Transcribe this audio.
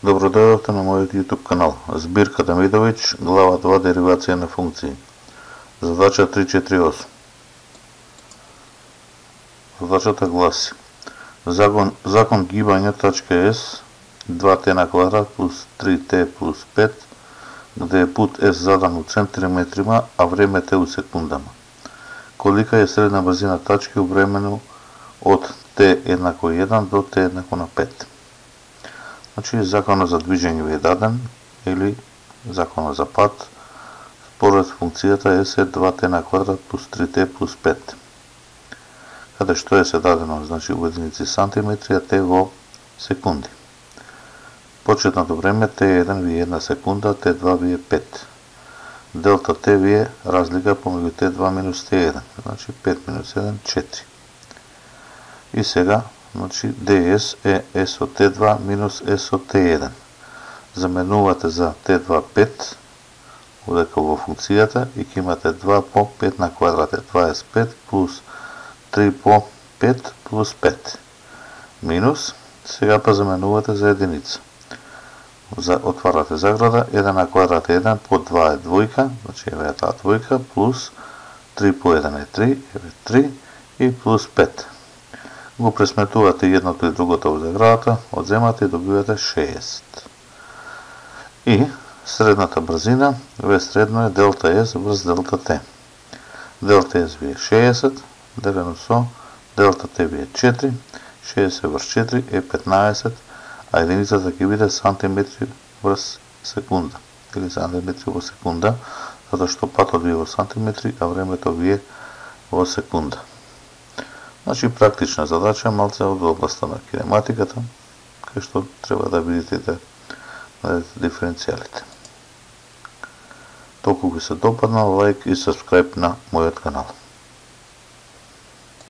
Добро дојдовте на мојот YouTube канал. Збирка Демидовиќ, глава 2, деривација на функции. Задача 348. Задачата гласи: закон гибање точка S 2t на квадрат плюс 3t плюс 5, где е пут S задан у центиметрима, а време t у секундама. Колика е средна брзина тачки у времено од t еднакво 1 до t еднакво на 5. Значи, законот за движење ви е даден, или законот за пат, според функцијата S е 2t на квадрат плюс 3t плюс 5. Каде што е се дадено, значи у единици сантиметри, а t во секунди. Почетното време t1 ви е 1 секунда, t2 ви е 5. Делта t ви е разлика помеѓу t2 минус t1, значи 5 минус 1, 4. И сега, значи ds е s од t2 минус s од t1. Заменувате за t2 5, одека во функцијата, и ќе имате 2 по 5 на квадрат е 25 плюс 3 по 5 плюс 5. Минус, сега па заменувате за единица. Отварате заграда, 1 на квадрат е 1, по 2 е двојка, значи еве таа двојка, плюс 3 по 1 е 3, еве 3, и плюс 5. Го пресметувате едното и другото во заградата, одземате и добивате 6. И средната брзина, ве средно е делта S врз делта T. Делта S ви е 60, делено со делта T ви е 4, 60 врз 4 е 15, а единицата ќе биде сантиметри врз секунда, или сантиметри во секунда, затоа што патот ви е во сантиметри, а времето ви е во секунда. Значи, практична задача, малце од областа на кинематиката, кај што треба да видите да најдете диференцијалите. Толку ви се допадна, лайк и сабскрајб на мојот канал.